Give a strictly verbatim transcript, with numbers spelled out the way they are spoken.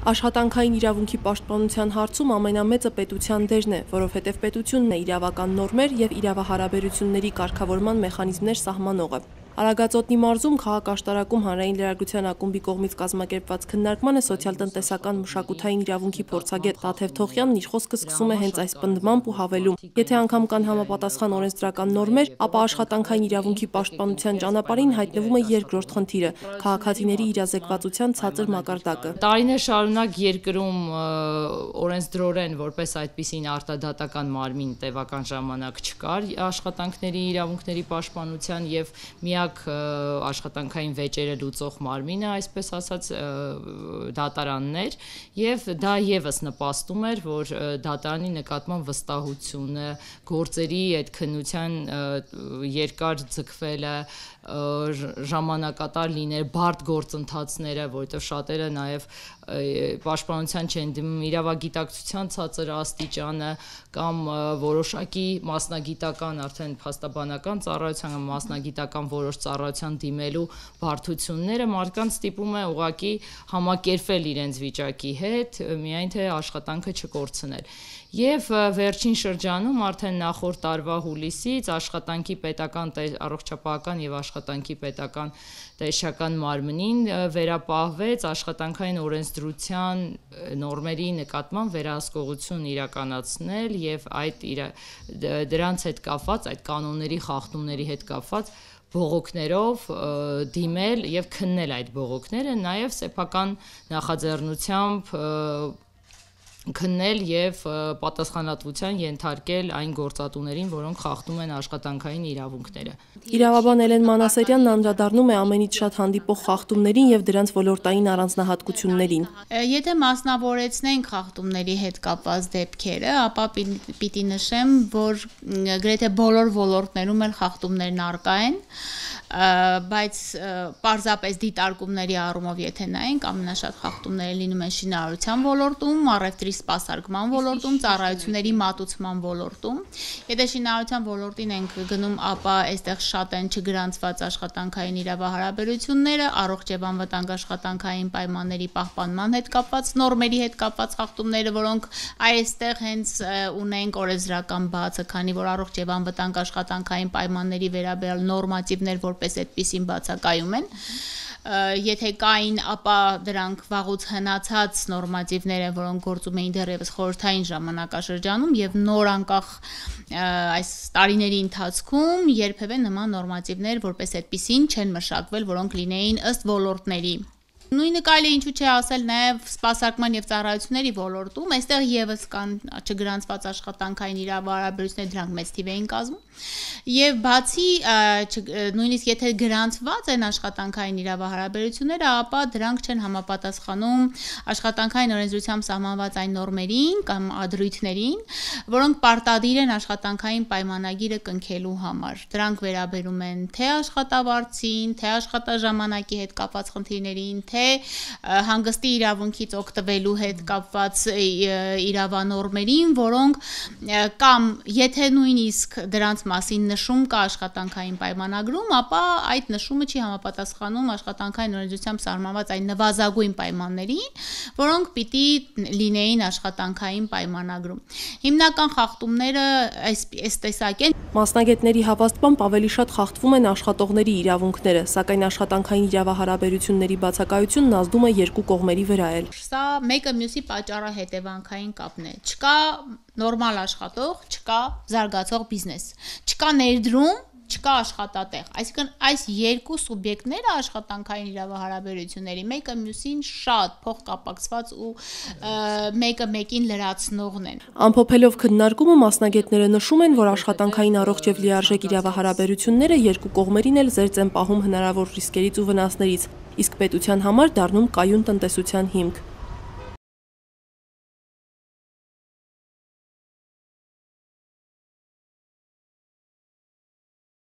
Աշխատանքային իրավունքի պաշտպանության հարցում ամենամեծը պետության դերն է, որովհետև պետությունն է իրավական նորմեր և իրավահարաբերությունների կարգավորման մեխանիզմներ սահմանողը։ Արագածոտնի մարզում քաղաք-աշտարակում հանրային լրագրության ակումբի կողմից կազմակերպված քննարկմանը սոցիալ-տնտեսական մշակութային իրավունքի փորձագետ Տաթև Թոխյանն իր խոսքը սկսում է հենց այս պնդմամբ ու հավելում. Եթե անգամ կան համապատասխան օրենսդրական նորմեր, ապա աշխատանքային իրավունքի պաշտպանության ճանապարհին հայտնվում է երկրորդ խնդիրը՝ քաղաքացիների իրազեկվածության ցածր մակարդակը։ Տարիներ շարունակ երկրում օրենսդրորեն որպես այդպիսին արտադատական մարմին տևական ժամանակ չկար աշխատանքների իրավունքների պաշտպանության եւ միակ աշխատանքային վեճերը լուծող մարմինը, այսպես ասած, դատարաններ, եւ դա եւս նպաստում էր, որ դատարանի նկատմամբ վստահությունը, գործերի այդ քննության երկար ձգվելը, ժամանակատար լինել, բարդ գործընթացները, որովհետև շատերը նաև պաշտպանության չեն դիմում, իրավագիտակցության ցածր աստիճանը կամ որոշակի մասնագիտական, արդեն փաստաբանական ծառայության կամ մասնագիտական որոշ ծառայության դիմելու բարդությունները մարդկանց ստիպում է ուղղակի համակերպվել իրենց վիճակի հետ, միայն թե աշխատանքը չկորցնել։ Եվ վերջին շրջանում արդեն նախորդ տարվա հուլիսից աշխատանքի պետական առողջապահական եւ աշխատանքի պետական տեսչական մարմնին վերապահվեց աշխատանքային օրենսդրության նորմերի նկատմամբ վերահսկողություն իրականացնել եւ այդ դրանց հետ կապված, այդ կանոնների խախտումների հետ կապված բողոքներով դիմել եւ քննել այդ բողոքները, նաեւ սեփական նախաձեռնությամբ քննել եւ պատասխանատվության ենթարկել այն գործատուներին, որոնք խախտում են աշխատանքային իրավունքները։ Իրավաբան Էլեն Մանասերյանն անդրադառնում է ամենից շատ հանդիպող խախտումներին եւ դրանց ոլորտային առանձնահատկություններին։ Եթե մասնավորեցնենք խախտումների հետ կապված դեպքերը, ապա պիտի նշեմ, որ գրեթե բոլոր ոլորտներում էլ խախտումներն առկա են, բայց պարզապես դիտարկումների առումով եթե նայենք, ամենաշատ խախտումները լինում են շինարարության ոլորտում, առևտրի սպասարկման ոլորտում, ծառայությունների մատուցման ոլորտում։ Եթե շինարարության ոլորտին ենք գնում, ապա այստեղ շատ են չգրանցված աշխատանքային իրավահարաբերությունները, առողջ եւ անվտանգ աշխատանքային պայմանների պահպանման հետ կապված նորմերի հետ կապված խախտումները, որոնք այստեղ հենց ունենք օրենսդրական բացը, քանի որ առողջ եւ անվտանգ աշխատանքային պայմանների վերաբերյալ նորմատիվներ որպես այդպիսին բացակայում են։ Եթե կային, ապա դրանք վաղուց հնացած նորմատիվներ են, որոնք գործում էին դեռևս խորհրդային ժամանակաշրջանում եւ նոր անկախ այս տարիների ընթացքում երբևէ նման նորմատիվներ որպես այդպիսին չեն մշակվել, որոնք լինեին ըստ ոլորտների։ Նույնը կարելի է ինչու՞ չէ ասել նաև սպասարկման եւ ծառայությունների ոլորտում, այստեղ եւս կան չգրանցված աշխատանքային իրավահարաբերություններ, դրանք մեծ թիվ էին կազմում։ Եվ բացի նույնիսկ եթե գրանցված են աշխատանքային իրավահարաբերությունները, ապա դրանք չեն համապատասխանում աշխատանքային օրենսդրությամբ սահմանված այն նորմերին կամ ադրույթներին, որոնք պարտադիր են աշխատանքային պայմանագիրը կնքելու համար։ Դրանք վերաբերում են թե աշխատավարձին, թե աշխատաժամանակի հետ կապված խնդիրներին, թե հանգստի իրավունքից օգտվելու հետ կապված իրավանորմերին, որոնք կամ եթե նույնիսկ դրանց մասին նշում կա աշխատանքային պայմանագրում, ապա այդ նշումը չի համապատասխանում աշխատանքային օրենսդրությամբ սահմանված այն նվազագույն պայմաններին, որոնք պիտի լինեին աշխատանքային պայմանագրում։ Հիմնական խախտումները այս տեսակ են։ Մասնագետների հավաստմամբ ավելի շատ խախտվում են աշխատողների իրավունքները, սակայն աշխատանքային իրավահարաբերությունների բացակայությունն ազդում է երկու կողմերի վրա էլ։ Սա մեկը մյուսի պատճառահետևանքային կապն է։ Չկա նորմալ աշխատող, չկա զարգացող բիզնես, չկա ներդրում, չկա աշխատատեղ։ Այսինքն այս երկու սուբյեկտները աշխատանքային իրավահարաբերությունների մեկը մյուսին շատ փոխկապակցված ու մեկը մեկին լրացնողն են։ Ամփոփելով քննարկումը մասնագետները նշում են, որ աշխատանքային առողջ եւ լիարժեք իրավահարաբերությունները երկու կողմերին էլ զերծ են պահում հնարավոր ռիսկերից ու վնասներից, իսկ պետության համար դառնում կայուն տնտեսության հիմք։